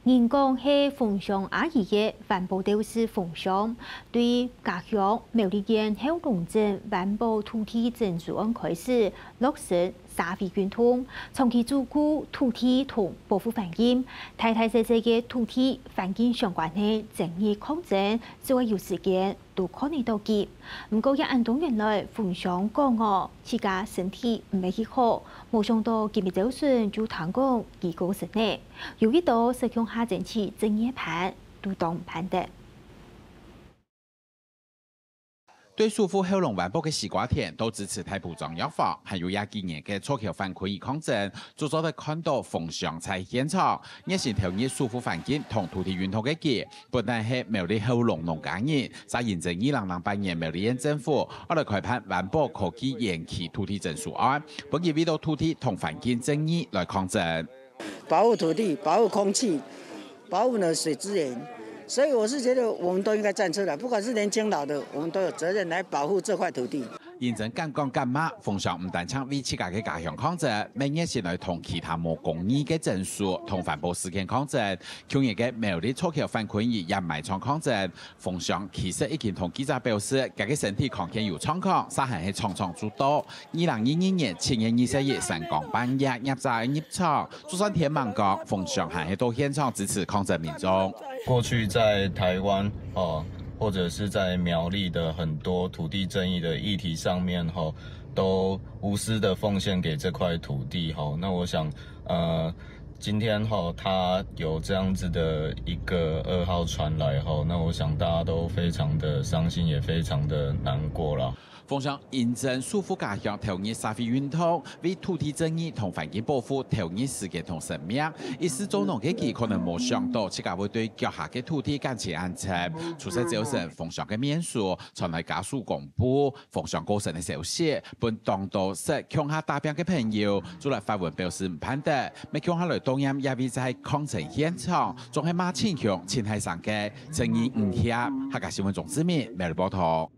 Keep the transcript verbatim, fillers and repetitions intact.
人講係豐香阿姨个環保鬥士豐香，對家鄉苗栗縣後龍鎮環保土地徵收案開始落實社會運動，長期主顧土地同保護環境，大大細細个土地環境相關个爭議抗爭，只要有時間， 都看得到佢。毋過也恁多年來，豐香講哦，自家身體毋係幾好，無想到今日朝晨就聽講佢過身了。有一兜識共下爭取正月飯，都當毋盼得。對守護後龍灣北个西瓜田，到支持大埔中藥房，還有這幾年个造橋返墾抗爭，就做得看到豐香在現場，熱心投入守護環境同土地運動个佢， 本來係苗栗後龍農家人，在因為二零零八年苗栗縣政府愛來開辦環保科技園區土地徵收案，本意為著土地同環境爭議來抗爭。保護土地、保護空氣、保護呢水資源，所以我是覺得我們都應該站出來，不管是年輕老的，我們都有責任來保護這塊土地。認真敢講敢罵，豐香毋單淨為自家个家鄉抗爭，乜熱心來同其他無公義个徵收同環保事件抗爭。舊年个苗栗造橋返墾也埋場抗爭， 豐香其實已經同記者表示，佢个身體康健有狀況，煞還係場場就到。二零二二年七月二十一三更半夜，業者入場，就算天吂光，豐香還係到現場支持抗爭民眾。過去在台灣哦，或者是在苗栗的很多土地爭議的議題上面吼，都無私的奉獻給這塊土地吼。那我想，呃，今天吼，他有這樣子的一個噩耗傳來吼，那我想大家都非常的傷心，也非常的難過啦。豐香因為守護家鄉投入社會運動，為土地正義同環境保護投入時間同生命，一世做農个佢可能無想到自家會對腳下个土地感情恁深。出世朝晨，豐香个面書傳來家屬公布豐香過身个消息，分當多識共下打拚个朋友，就來發文表示毋盼得，乜共下來悼念這位在抗爭現場，總係罵親兄親大聲个，正義毋協。客家新聞鍾志明，每日報導。